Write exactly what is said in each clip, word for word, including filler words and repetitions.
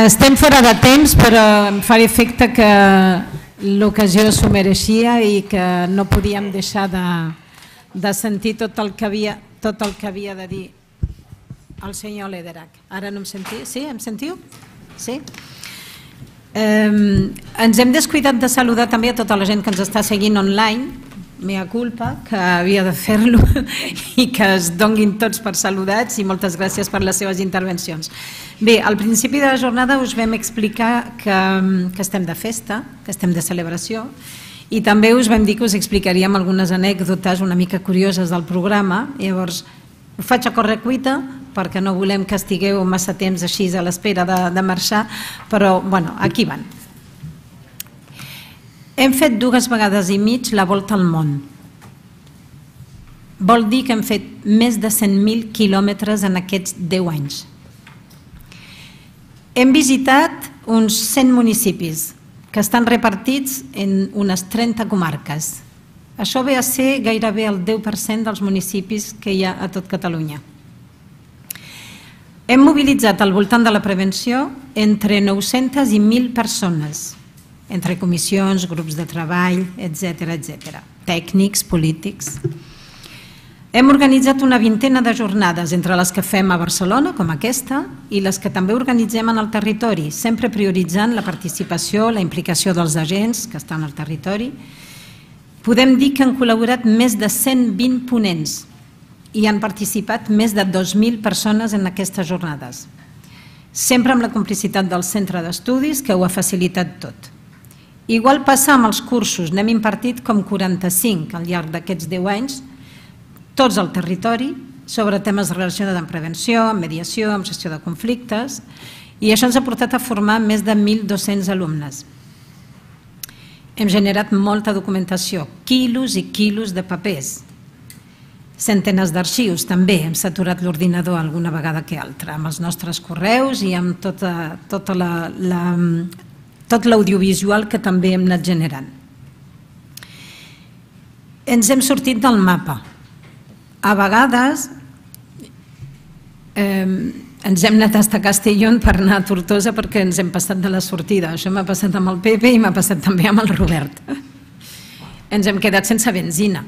Estem fora de temps, però em fa efecte que l'ocasió s'ho mereixia i que no podíem deixar de, de sentir tot el, que havia, tot el que havia de dir el senyor Lederach. Ara no em sentiu? Sí, em sentiu? Sí? Eh, ens hem descuidat de saludar també a tota la gent que ens està seguint online, mea culpa, que havia de fer-lo i que es donguin tots per saludats i moltes gràcies per les seves intervencions. Bé, al principi de la jornada us vam explicar que, que estem de festa, que estem de celebració, i també us vam dir que us explicaríem algunes anècdotes una mica curioses del programa. Llavors, ho faig a correcuita perquè no volem que estigueu massa temps així a l'espera de, de marxar, però bueno, aquí van. Hem fet dues vegades i mig la volta al món. Vol dir que hem fet més de cent mil quilòmetres en aquests deu anys. Hem visitat uns cent municipis que estan repartits en unes trenta comarques. Això ve a ser gairebé el deu per cent dels municipis que hi ha a tot Catalunya. Hem mobilitzat al voltant de la prevenció entre nou-centes i mil persones, entre comissions, grups de treball, etcètera, etcètera, tècnics, polítics. Hem organitzat una vintena de jornades entre les que fem a Barcelona, com aquesta, i les que també organitzem en el territori, sempre prioritzant la participació, la implicació dels agents que estan al territori. Podem dir que han col·laborat més de cent vint ponents i han participat més de dos mil persones en aquestes jornades, sempre amb la complicitat del centre d'estudis que ho ha facilitat tot. Igual passa amb els cursos, n'hem impartit com quaranta-cinc al llarg d'aquests deu anys, tots al territori, sobre temes relacionats amb prevenció, amb mediació, amb gestió de conflictes, i això ens ha portat a formar més de mil dos-cents alumnes. Hem generat molta documentació, quilos i quilos de papers, centenes d'arxius també, hem saturat l'ordinador alguna vegada que altra, amb els nostres correus i amb tota, tota la... la tot l'audiovisual que també hem anat generant. Ens hem sortit del mapa. A vegades eh, ens hem anat a Castellón per anar a Tortosa perquè ens hem passat de la sortida. Això m'ha passat amb el Pepe i m'ha passat també amb el Robert. Ens hem quedat sense benzina.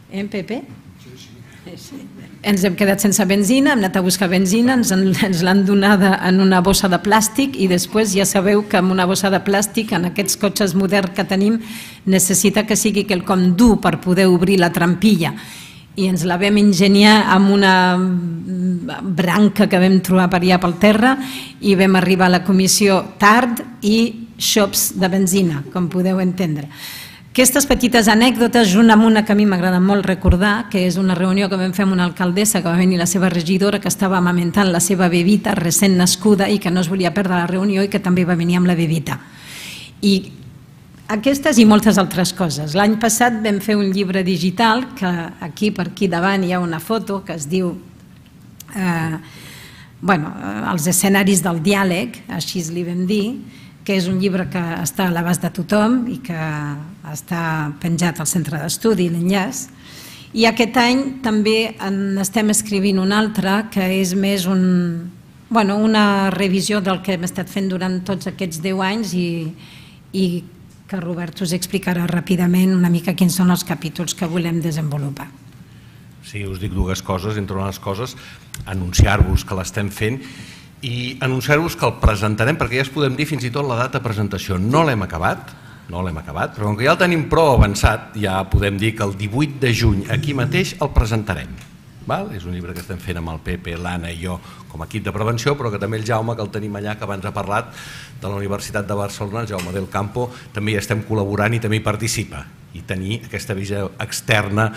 Eh, Pepe? Sí, sí. Ens hem quedat sense benzina, hem anat a buscar benzina, ens l'han donada en una bossa de plàstic i després ja sabeu que amb una bossa de plàstic en aquests cotxes moderns que tenim necessita que sigui quelcom dur per poder obrir la trampilla i ens la vam ingeniar amb una branca que vam trobar per allà pel terra i vam arribar a la comissió tard i xops de benzina, com podeu entendre. Aquestes petites anècdotes, junt amb una que a mi m'agrada molt recordar, que és una reunió que vam fer amb una alcaldessa que va venir la seva regidora, que estava amamentant la seva bebita recent nascuda i que no es volia perdre la reunió i que també va venir amb la bebita. I aquestes i moltes altres coses. L'any passat vam fer un llibre digital, que aquí per aquí davant hi ha una foto que es diu eh, bueno, els escenaris del diàleg, així li vam dir, que és un llibre que està a l'abast de tothom i que està penjat al centre d'estudi, l'enllaç. I aquest any també estem escrivint un altre que és més un, bueno, una revisió del que hem estat fent durant tots aquests deu anys i, i que Robert us explicarà ràpidament una mica quins són els capítols que volem desenvolupar. Sí, us dic dues coses, entre unes coses, anunciar-vos que l'estem fent i anunciar-vos que el presentarem, perquè ja es podem dir fins i tot la data de presentació. No l'hem acabat, no l'hem acabat, però com que ja el tenim prou avançat, ja podem dir que el divuit de juny aquí mateix el presentarem. És un llibre que estem fent amb el Pepe, l'Anna i jo com a equip de prevenció, però que també el Jaume, que el tenim allà, que abans ha parlat de la Universitat de Barcelona, el Jaume del Campo, també hi estem col·laborant i també hi participa. I tenir aquesta visió externa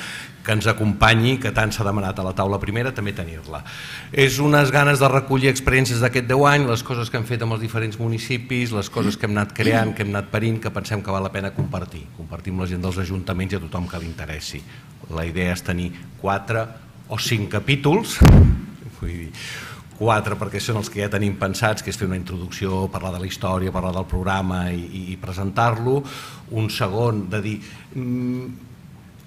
que ens acompanyi, que tant s'ha demanat a la taula primera, també tenir-la. És unes ganes de recollir experiències d'aquest deu anys, les coses que hem fet amb els diferents municipis, les coses que hem anat creant, que hem anat parint, que pensem que val la pena compartir. Compartir amb la gent dels ajuntaments i a tothom que li interessi. La idea és tenir quatre o cinc capítols, vull dir, quatre perquè són els que ja tenim pensats, que és fer una introducció, parlar de la història, parlar del programa i, i presentar-lo. Un segon de dir,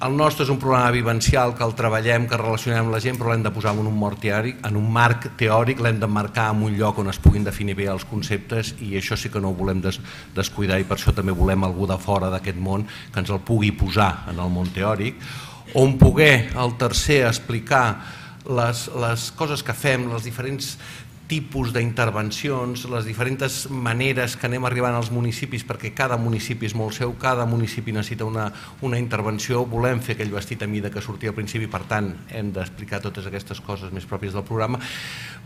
el nostre és un programa vivencial que el treballem, que relacionem amb la gent, però l'hem de posar en un marc teòric, en un marc teòric, l'hem de marcar en un lloc on es puguin definir bé els conceptes, i això sí que no ho volem des, descuidar, i per això també volem algú de fora d'aquest món que ens el pugui posar en el món teòric, on poder el tercer explicar les, les coses que fem, els diferents tipus d'intervencions, les diferents maneres que anem arribant als municipis, perquè cada municipi és molt seu, cada municipi necessita una, una intervenció, volem fer aquell vestit a mida que sortia al principi, per tant hem d'explicar totes aquestes coses més pròpies del programa,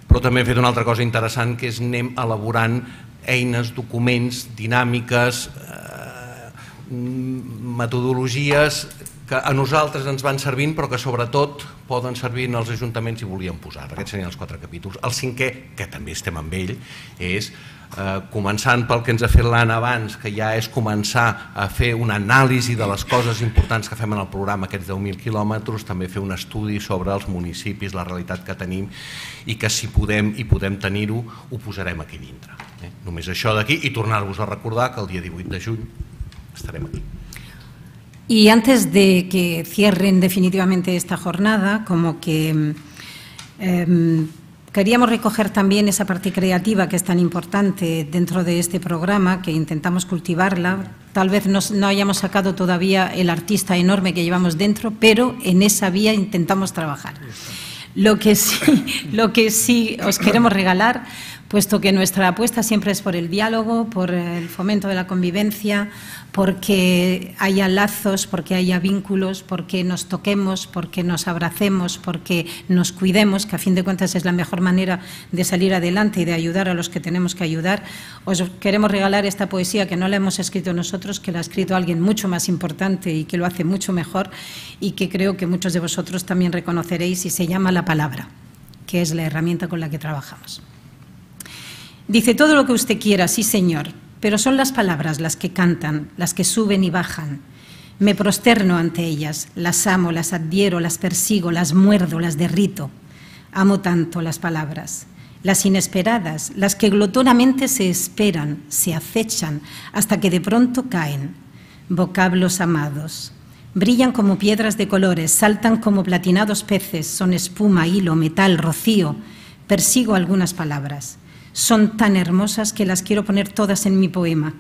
però també hem fet una altra cosa interessant, que és anem elaborant eines, documents, dinàmiques, eh, metodologies que a nosaltres ens van servint, però que sobretot poden servir en els ajuntaments i volíem posar. Aquests serien els quatre capítols. El cinquè, que també estem amb ell, és eh, començant pel que ens ha fet l'Anna abans, que ja és començar a fer una anàlisi de les coses importants que fem en el programa, aquests deu mil quilòmetres, també fer un estudi sobre els municipis, la realitat que tenim, i que si podem i podem tenir-ho, ho posarem aquí dintre. Eh? Només això d'aquí, i tornar-vos a recordar que el dia divuit de juny estarem aquí. Y antes de que cierren definitivamente esta jornada, como que eh, queríamos recoger también esa parte creativa que es tan importante dentro de este programa, que intentamos cultivarla. Tal vez no, no hayamos sacado todavía el artista enorme que llevamos dentro, pero en esa vía intentamos trabajar. Lo que sí, lo que sí os queremos regalar, puesto que nuestra apuesta siempre es por el diálogo, por el fomento de la convivencia, porque haya lazos, porque haya vínculos, porque nos toquemos, porque nos abracemos, porque nos cuidemos, que a fin de cuentas es la mejor manera de salir adelante y de ayudar a los que tenemos que ayudar. Os queremos regalar esta poesía que no la hemos escrito nosotros, que la ha escrito alguien mucho más importante y que lo hace mucho mejor, y que creo que muchos de vosotros también reconoceréis, y se llama La Palabra, que es la herramienta con la que trabajamos. Dice: todo lo que usted quiera, sí señor, pero son las palabras las que cantan, las que suben y bajan. Me prosterno ante ellas, las amo, las adhiero, las persigo, las muerdo, las derrito. Amo tanto las palabras, las inesperadas, las que glotonamente se esperan, se acechan, hasta que de pronto caen. Vocablos amados. Brillan como piedras de colores, saltan como platinados peces, son espuma, hilo, metal, rocío. Persigo algunas palabras. Son tan hermosas que las quiero poner todas en mi poema.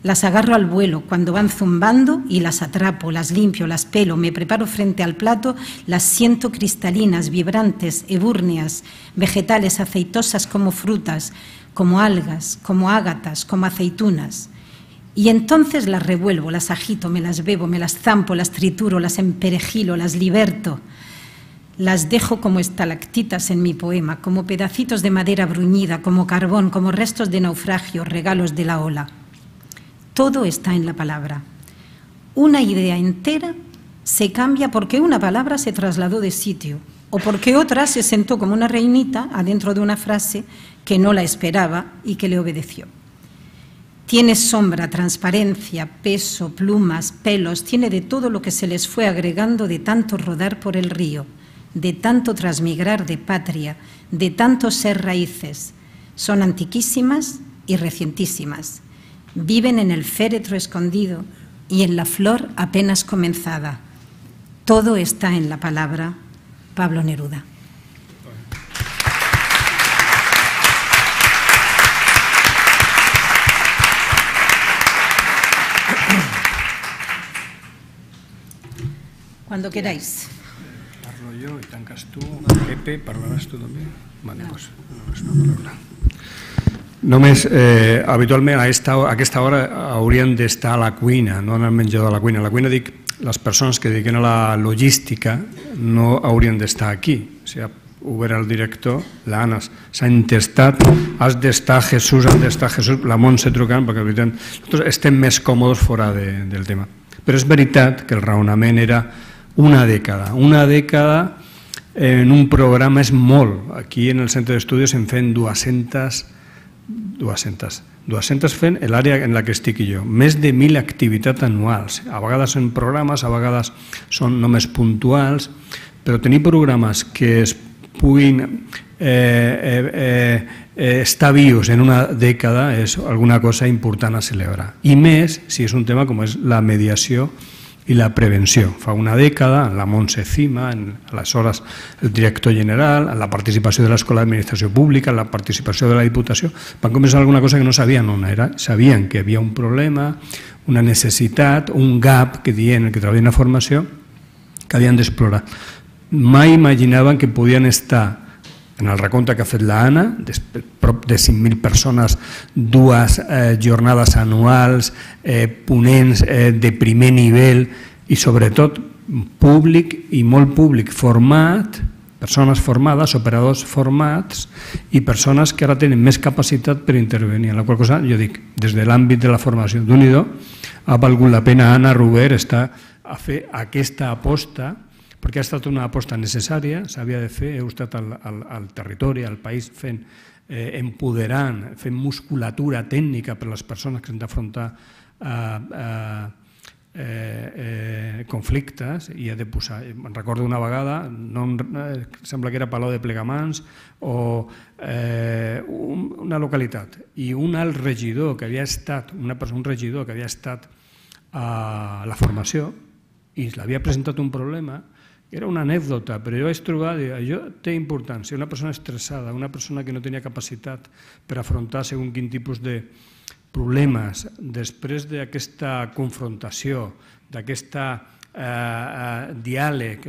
Las agarro al vuelo cuando van zumbando y las atrapo, las limpio, las pelo, me preparo frente al plato, las siento cristalinas, vibrantes, ebúrneas, vegetales, aceitosas como frutas, como algas, como ágatas, como aceitunas. Y entonces las revuelvo, las agito, me las bebo, me las zampo, las trituro, las emperejilo, las liberto. Las dejo como estalactitas en mi poema, como pedacitos de madera bruñida, como carbón, como restos de naufragio, regalos de la ola. Todo está en la palabra. Una idea entera se cambia porque una palabra se trasladó de sitio, o porque otra se sentó como una reinita adentro de una frase que no la esperaba y que le obedeció. Tiene sombra, transparencia, peso, plumas, pelos, tiene de todo lo que se les fue agregando de tanto rodar por el río, de tanto transmigrar de patria, de tanto ser raíces. Son antiquísimas y recientísimas. Viven en el féretro escondido y en la flor apenas comenzada. Todo está en la palabra. Pablo Neruda. Cuando queráis. Parlo jo i tanques tu. Pepe, parlaràs tu també? Vale, doncs, només una paraula. Només, eh, habitualment a, esta, a aquesta hora haurien d'estar a la cuina, no en el menjador de la cuina. A la cuina dic, les persones que dediquen a la logística no haurien d'estar aquí. O sigui, ho veurà el director, l'Anna s'ha intestat, has d'estar Jesús, has d'estar Jesús, la Montse trucant, perquè nosaltres estem més còmodes fora de, del tema. Però és veritat que el raonament era una dècada. Una dècada en un programa és molt. Aquí en el centre d'estudis en fem dues-centes, dues-centes, dues-centes fent l'àrea en la que estic jo. Més de mil activitats anuals. A vegades són programes, a vegades són només puntuals, però tenir programes que es puguin eh, eh, eh, estar vius en una dècada és alguna cosa important a celebrar. I més si és un tema com és la mediació i la prevenció. Fa una dècada, en la Montse Cima, aleshores el director general, en la participació de l'Escola d'Administració Pública, en la participació de la Diputació, van començar alguna cosa que no sabien on era. Sabien que hi havia un problema, una necessitat, un gap, que diuen que treballen a formació, que havien d'explorar. Mai imaginaven que podien estar en el recompte que ha fet l'Anna, prop de cinc mil persones, dues jornades anuals, ponents de primer nivell i sobretot públic i molt públic format, persones formades, operadors formats i persones que ara tenen més capacitat per intervenir. En la qual cosa, jo dic, des de l'àmbit de la formació d'Unido, ha valgut la pena Anna Ruber estar a fer aquesta aposta, perquè ha estat una aposta necessària, s'havia de fer, heu estat al, al, al territori, al país, fent, eh, empoderant, fent musculatura tècnica per a les persones que han d'afrontar eh, eh, eh, conflictes i ha de posar. Me'n recordo una vegada, no, eh, sembla que era Palau de Plegamans o eh, un, una localitat, i un alt regidor que havia estat, una persona, un regidor que havia estat a la formació i l'havia presentat un problema. Era una anècdota, però jo vaig trobar, això té importància, una persona estressada, una persona que no tenia capacitat per afrontar segons quin tipus de problemes, després d'aquesta confrontació, d'aquest diàleg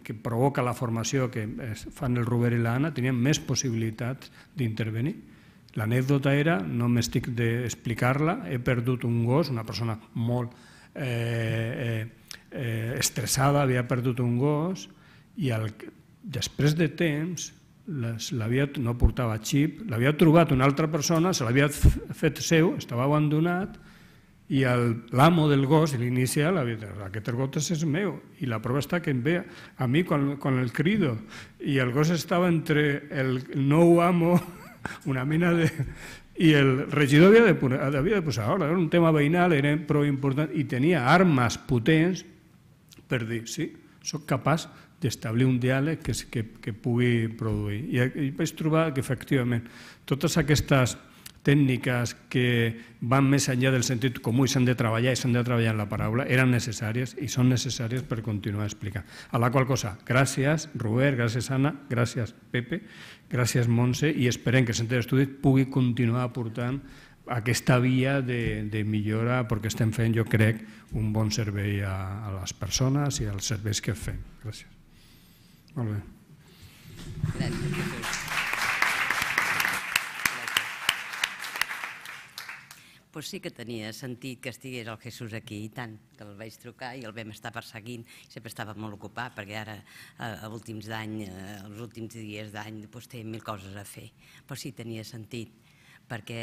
que provoca la formació que fan el Robert i l'Anna, tenien més possibilitats d'intervenir. L'anècdota era, no m'estic d'explicar-la, he perdut un gos, una persona molt estressada, havia perdut un gos i després de temps no portava xip, l'havia trobat una altra persona, se l'havia fet seu, estava abandonat i l'amo del gos, l'inicial, aquest gos és meu i la prova està que em ve a mi quan el crido i el gos estava entre el nou amo, una mena de... i el regidor havia de posar ordre, era un tema veïnal, era prou important i tenia armes potents per dir, sí, soc capaç d'establir un diàleg que pugui produir. I vaig trobar que, efectivament, totes aquestes tècniques que van més enllà del sentit comú i s'han de treballar i s'han de treballar en la paraula eren necessàries i són necessàries per continuar explicant. A la qual cosa, gràcies Robert, gràcies Anna, gràcies Pepe, gràcies Montse i esperem que el Centre d'Estudis pugui continuar aportant aquesta via de millora perquè estem fent, jo crec, un bon servei a les persones i als serveis que fem. Gràcies. Molt bé. Gràcies. Doncs sí que tenia sentit que estigués el Jesús aquí i tant, que el vaig trucar i el vam estar perseguint, sempre estava molt ocupat perquè ara, a últims d'any, els últims dies d'any, té mil coses a fer. Però sí tenia sentit, perquè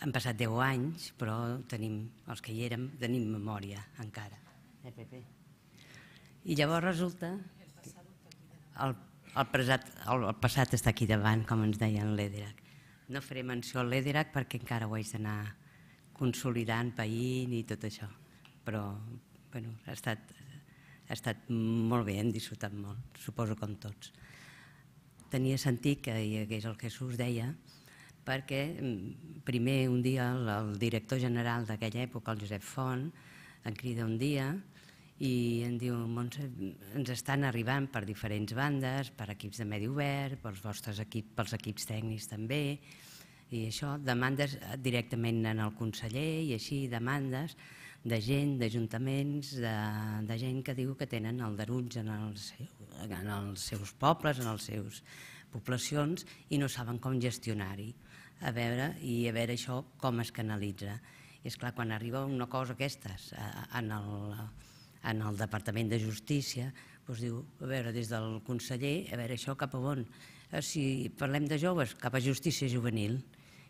han passat deu anys, però tenim, els que hi érem, tenim memòria encara. Eh, Pepe? I llavors resulta que el passat està aquí davant, com ens deien l'Ederac. No faré menció al l'Ederac perquè encara ho haig d'anar consolidant, païnt i tot això. Però ha estat molt bé, hem disfrutat molt, suposo com tots. Tenia sentit que hi hagués el Jesús, deia, perquè primer un dia el director general d'aquella època, el Josep Font, em crida un dia i em diu, Montse, ens estan arribant per diferents bandes, per equips de medi obert, pels vostres equips, pels equips tècnics també, i això, demandes directament en el conseller i així, demandes de gent, d'ajuntaments, de gent que diu que tenen aldarulls en els seus pobles, en les seves poblacions i no saben com gestionar-hi, a veure, i a veure això com es canalitza. I esclar, quan arriba una cosa aquestes en el en el Departament de Justícia, doncs diu, a veure, des del conseller, a veure, això cap a on? Si parlem de joves, cap a Justícia Juvenil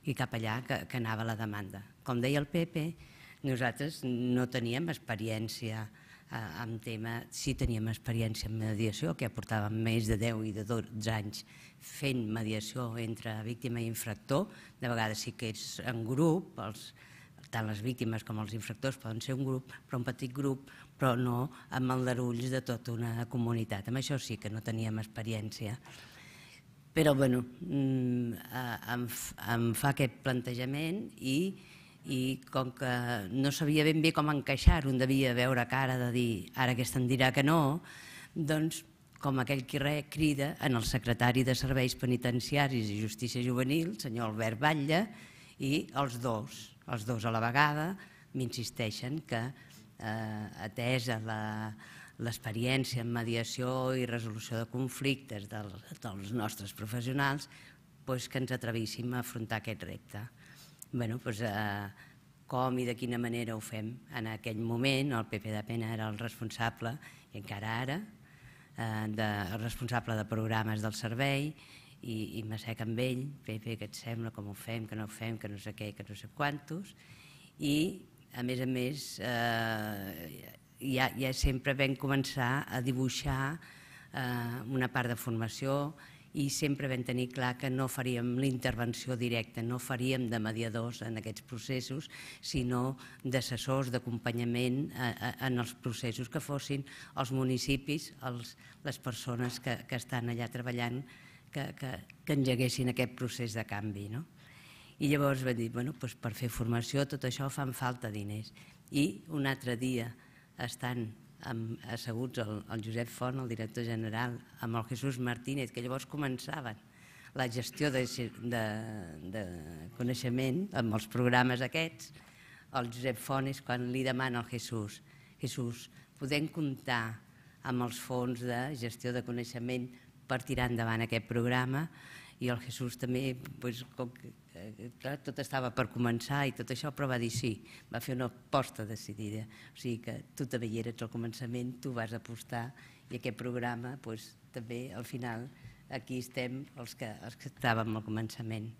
i cap allà que anava la demanda. Com deia el Pepe, nosaltres no teníem experiència en tema, sí teníem experiència en mediació, que aportàvem més de deu i de dotze anys fent mediació entre víctima i infractor, de vegades sí que és en grup, tant les víctimes com els infractors poden ser un grup, però un petit grup, però no amb aldarulls de tota una comunitat. Amb això sí que no teníem experiència. Però, bueno, em fa aquest plantejament i i com que no sabia ben bé com encaixar-ho, un devia veure cara de dir ara aquesta em dirà que no, doncs com aquell qui crida en el secretari de Serveis Penitenciaris i Justícia Juvenil, senyor Albert Batlle, i els dos, els dos a la vegada, m'insisteixen que, atesa l'experiència en mediació i resolució de conflictes dels nostres professionals, que ens atrevíssim a afrontar aquest repte. Com i de quina manera ho fem? En aquell moment el Pepe de Pena era el responsable, i encara ara, el responsable de programes del servei, i m'assec amb ell, Pepe, què et sembla, com ho fem, que no ho fem, que no sé què, que no sé quantos, i a més a més ja sempre vam començar a dibuixar una part de formació i sempre vam tenir clar que no faríem l'intervenció directa, no faríem de mediadors en aquests processos, sinó d'assessors, d'acompanyament en els processos, que fossin els municipis, les persones que estan allà treballant, que engeguessin aquest procés de canvi. I llavors vam dir, per fer formació tot això fan falta diners. I un altre dia, estant asseguts el Josep Font, el director general, amb el Jesús Martínez, que llavors començaven la gestió de coneixement amb els programes aquests, el Josep Font és quan li demana al Jesús: Jesús, podem comptar amb els fons de gestió de coneixement per tirar endavant aquest programa? I el Jesús també, tot estava per començar i tot això, però va dir sí, va fer una aposta decidida. O sigui que tu també hi eres al començament, tu vas apostar, i aquest programa també al final aquí estem els que estàvem al començament.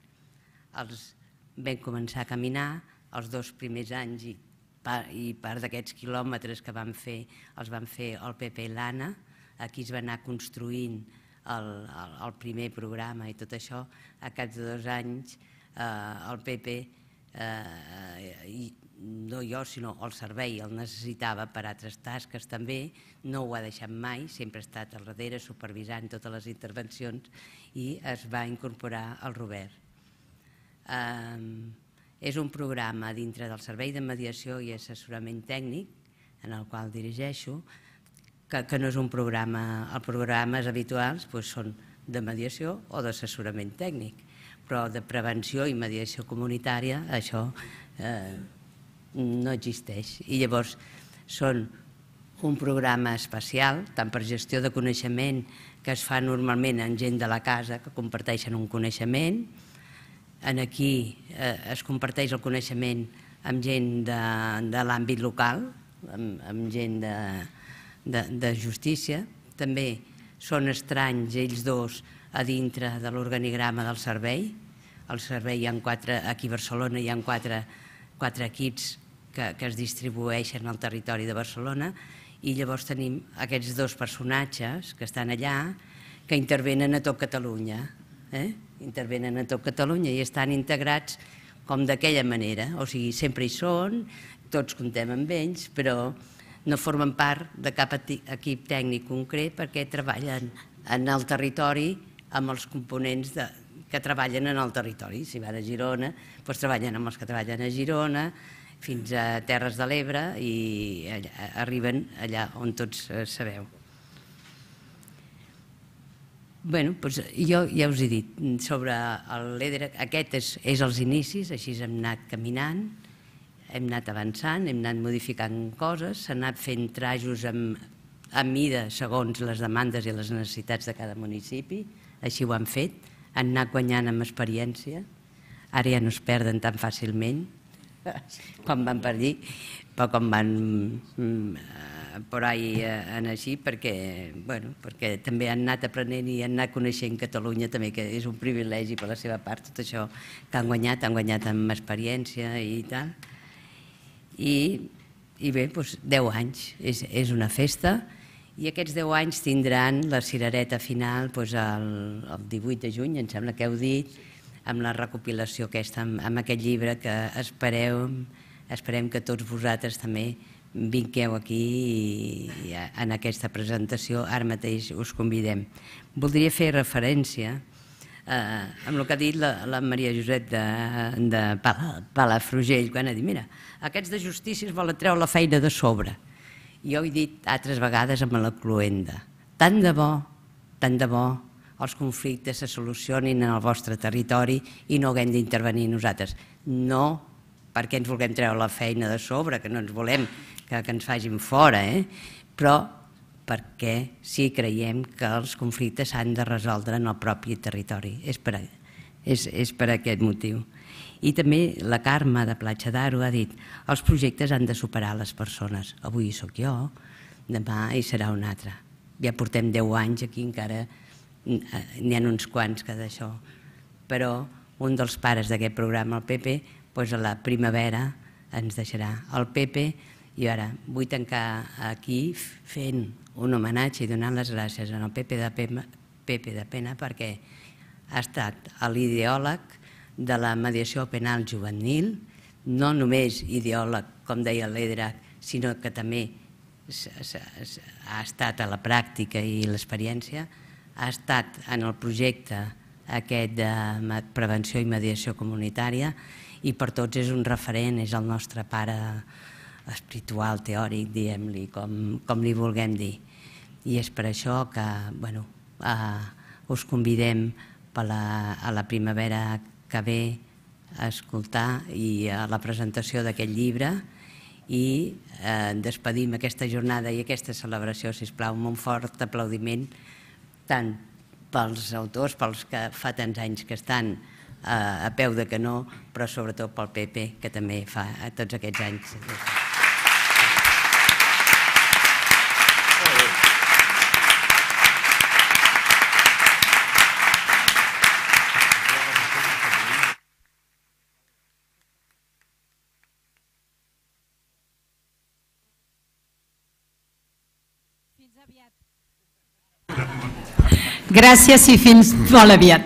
Vam començar a caminar, els dos primers anys i part d'aquests quilòmetres que vam fer els van fer el Pepe i l'Anna, aquí es va anar construint el primer programa i tot això. A cap de dos anys el Pepe, no jo sinó el servei, el necessitava per altres tasques també, no ho ha deixat mai, sempre ha estat al darrere supervisant totes les intervencions, i es va incorporar el Robert. És un programa dintre del Servei de Mediació i Assessorament Tècnic, en el qual dirigeixo, que no és un programa, els programes habituals són de mediació o d'assessorament tècnic, però de prevenció i mediació comunitària això no existeix. I llavors són un programa especial, tant per gestió de coneixement, que es fa normalment amb gent de la casa que comparteixen un coneixement. Aquí es comparteix el coneixement amb gent de l'àmbit local, amb gent de de justícia. També són estranys ells dos a dintre de l'organigrama del servei. Al servei hi ha quatre, aquí a Barcelona hi ha quatre equips que es distribueixen al territori de Barcelona, i llavors tenim aquests dos personatges que estan allà que intervenen a tot Catalunya. Intervenen a tot Catalunya i estan integrats com d'aquella manera, o sigui, sempre hi són, tots comptem amb ells, però no formen part de cap equip tècnic concret perquè treballen en el territori amb els components que treballen en el territori. Si van a Girona, doncs treballen amb els que treballen a Girona, fins a Terres de l'Ebre, i arriben allà on tots sabeu. Bé, doncs jo ja us he dit, sobre l'E D R A C, aquest és els inicis, així hem anat caminant, hem anat avançant, hem anat modificant coses, s'han anat fent trajos a mida segons les demandes i les necessitats de cada municipi, així ho han fet, han anat guanyant amb experiència, ara ja no es perden tan fàcilment, com van per allí, però com van per ahí així, perquè també han anat aprenent i han anat coneixent Catalunya també, que és un privilegi per la seva part, tot això que han guanyat, han guanyat amb experiència i tal. I bé, deu anys, és una festa, i aquests deu anys tindran la cirereta final el divuit de juny, em sembla que heu dit, amb la recopilació aquesta, amb aquest llibre que esperem que tots vosaltres també vingueu aquí en aquesta presentació, ara mateix us convidem. Voldria fer referència amb el que ha dit la Maria Josep de Palafrugell, quan ha dit, mira, aquests de justícia es volen treure la feina de sobre. Jo he dit altres vegades amb la Cluenda, tant de bo, tant de bo, els conflictes se solucionin en el vostre territori i no haguem d'intervenir nosaltres. No perquè ens vulguem treure la feina de sobre, que no ens volem que ens facin fora, però perquè sí creiem que els conflictes s'han de resoldre en el propi territori. És per aquest motiu. I també la Carme de Platja d'Aro ha dit els projectes han de superar les persones. Avui hi soc jo, demà hi serà un altre. Ja portem deu anys aquí, encara n'hi ha uns quants que d'això. Però un dels pares d'aquest programa, el Pepe, a la primavera ens deixarà el Pepe. I ara vull tancar aquí fent un homenatge i donant les gràcies al Pepe de Pena perquè ha estat l'ideòleg de la mediació penal juvenil, no només ideòleg, com deia l'Edra, sinó que també ha estat a la pràctica i l'experiència, ha estat en el projecte aquest de prevenció i mediació comunitària i per tots és un referent, és el nostre pare espiritual, teòric, diguem-li, com li vulguem dir. I és per això que us convidem a la primavera que ve a escoltar i a la presentació d'aquest llibre i despedim aquesta jornada i aquesta celebració, sisplau, amb un fort aplaudiment tant pels autors, pels que fa tants anys que estan a peu de canó, però sobretot pel Pepe, que també fa tots aquests anys. Gràcies i fins molt aviat.